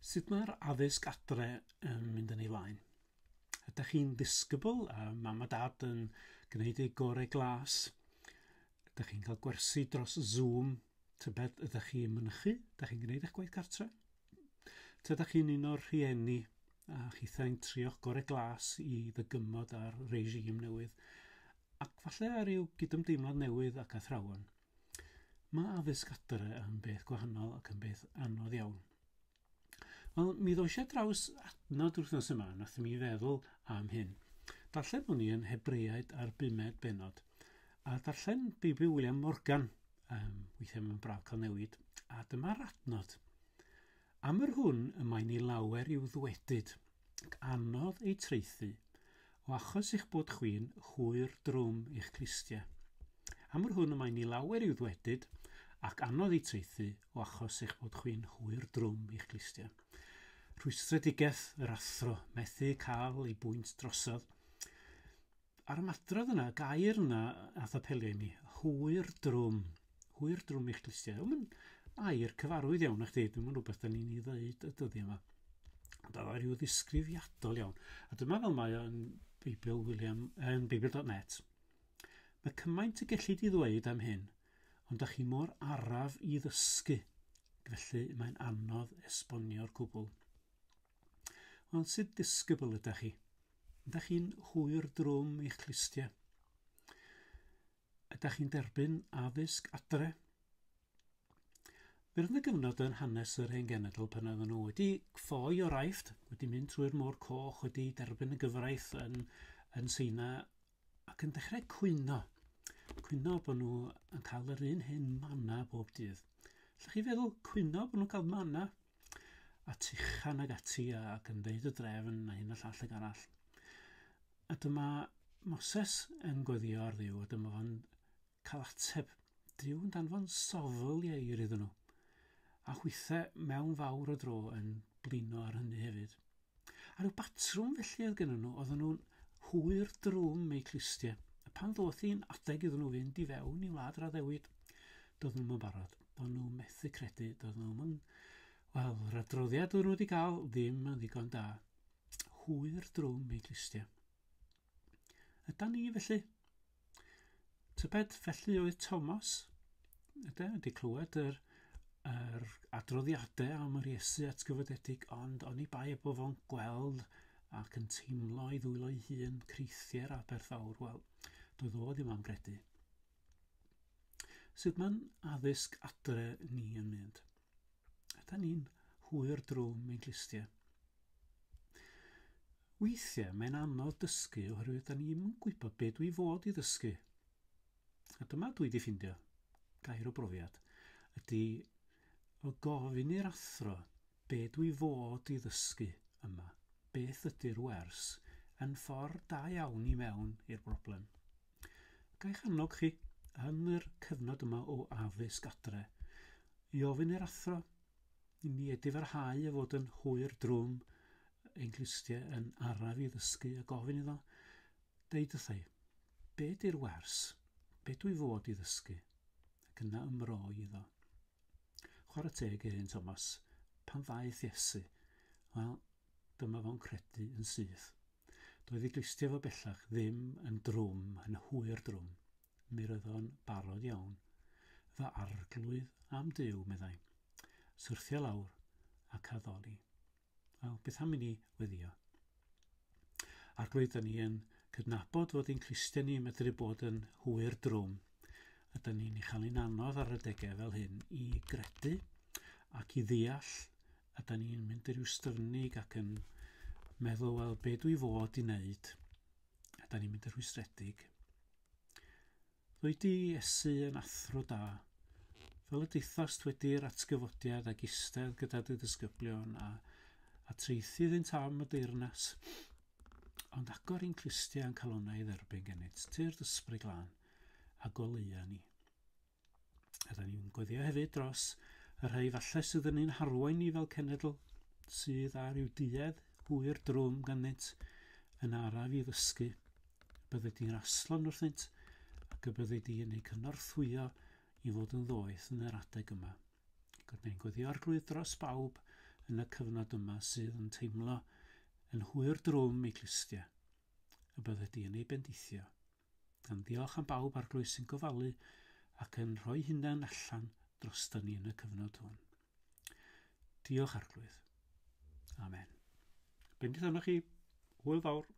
Sut mae'r addysg adre yn mynd yn ei flaen? Ydych chi'n ddisgybl a mam a dad yn gwneud eu gorau glas? Ydych chi'n cael gwersi dros Zoom? Tybed ydych chi'n mynychu? Ydych chi'n gwneud eich gwaith cartre? Tydych chi'n un o'r rhieni a chithau'n trio'ch gorau glas i ddygymod ar regime newydd ac falle ar ryw gydymdeimlad newydd ac athrawon? Mae addysg adre yn beth gwahanol ac yn beth anodd iawn. Wel, mi ddois i ar draws adnod wythnos yma, nath mi feddwl am hyn. Darllen o'n i yn Hebreaid ar bumed bennod, a darllen Beibl William Morgan, weithiau mae'n braf cael newid, a dyma'r adnod. Am yr hwn y mae'n ei lawer i'w ddwedyd, ac anodd ei traethu, o achos eich bod chwi'n hwyr drwm eich clustiau. Am yr hwn y mae'n ei lawer i'w ddwedyd, ac anodd ei traethu, o achos eich bod chwi'n hwyr drwm i'ch clustiau. Rhwystredigaeth yr athro, methu cael ei bwynt drosodd. A'r ymadrodd yna, gair yna ath apelio i mi, hwyr drwm, hwyr drwm i'ch clustiau. Mae'n air cyfarwydd iawn i chdi, dwi'n mynd rhywbeth da ni'n ei ddeud y dyddiau yma. Ond oedd o rhyw ddisgrifiadol iawn. A dyma fel mae o'n Beibl William, yn Beibl.net. Mae cymaint y gellid i ddweud am hyn, ond da chi mor araf i ddysgu, felly mae'n anodd esbonio'r cwbl. Wel, sut ddisgybl ydych chi? Ydych chi'n hwyr drwm eich clustiau? Ydych chi'n derbyn addysg adre? Fe roedd yna gyfnod yn hanes yr hen genedl pan oedden nhw wedi ffoi o'r Aifft, wedi mynd trwy'r Môr Coch, wedi derbyn y gyfraith yn, yn Seina ac yn dechrau cwyno. Cwyno bod nhw yn cael yr un hyn mana bob dydd. Lle chi feddwl cwyno bod nhw'n cael mana? A tuchan ag ati ac yn dweud y drefn a hyn a llall ag arall. A dyma Moses yn gweddio ar Dduw a dyma fo'n cael ateb. Duw yn danfon sofl ieir iddyn nhw. A hwythau mewn fawr o dro yn blino ar hynny hefyd. A rhyw batrwm felly oedd gennyn nhw, oedden nhw'n hwyr drwm eu clustiau. A pan ddoth hi'n adeg iddyn nhw fynd i fewn i wlad yr addewid, doedden nhw'm yn barod. Doedden nhw methu credu, doedden nhw'm yn... Wel, yr adroddiad oedden nhw wedi cael ddim yn ddigon da. Hwyr drwm eu clustiau. Ydan ni felly? Tybed felly oedd Thomas? Ydy, wedi clywed yr, yr adroddiadau am yr Iesu atgyfodedig, ond oni bai bod fo'n gweld ac yn teimlo ei ddwylo ei hun creithiau'r aberth fawr, wel, doedd o ddim am gredu. Sut mae'n addysg adre ni yn mynd? Ydy ni'n hwyr drwm ein clustiau? Weithiau mae'n anodd dysgu oherwydd da ni'm yn gwybod be dwi fod i ddysgu. A dyma dwi di ffindio, gair o brofiad, ydy o gofyn i'r athro be dwi fod i ddysgu yma, beth ydy'r wers, yn ffordd da iawn i mewn i'r broblem. Ga i'ch annog chi, yn yr cyfnod yma o addysg adre, i ofyn i'r athro i ni edifarhau a fod yn hwyr drwm ein clustiau yn araf i ddysgu a gofyn iddo, deud wrtha i, be di'r wers? Be dwi fod i ddysgu? Ac yna ymroi iddo. Chwarae teg i'r un Thomas, pan ddaeth Iesu, wel, dyma fo'n credu yn syth. Doedd ei glustiau fo bellach ddim yn drwm, yn hwyr drwm. Mi roedd o'n barod iawn. Fy arglwydd am Duw, meddai. Syrthio lawr ac addoli. Wel, beth am i ni weddio? Arglwydd, da ni yn cydnabod fod ein clustiau ni yn medru bod yn hwyr drwm, a da ni'n ei chael hi'n anodd ar adegau fel hyn i gredu ac i ddeall, a da ni'n mynd i ryw styfnig ac yn meddwl, wel, be dwi fod i wneud? A da ni'n mynd yn rhwystredig. Ddwy di Iesu yn athro da, fel y deuthost wedi'r atgyfodiad ac eistedd gyda dy ddisgyblion a, a traethu iddynt am y deyrnas. Ond agor i'n clustiau a'n calonnau i dderbyn gennyt, tyrd ysbryd glân, a goleua ni. A da ni'n gweddio hefyd dros y rhai falle sydd yn ein harwain ni fel cenedl, sydd â rhyw duedd hwyr drwm ganddynt yn araf i ddysgu. Bydde di'n raslon wrthynt ac y bydde di yn eu cynorthwyo i fod yn ddoeth yn yr adeg yma. Ac ni'n gweddio Arglwydd dros bawb yn y cyfnod yma sydd yn teimlo yn hwyr drwm eu clustiau, y bydde di yn ei bendithio. Gan ddiolch am bawb Arglwydd sy'n gofalu ac yn rhoi hunan allan droston ni yn y cyfnod hwn. Diolch, Arglwydd. Amen. Bendith arnoch chi. Hwyl fawr.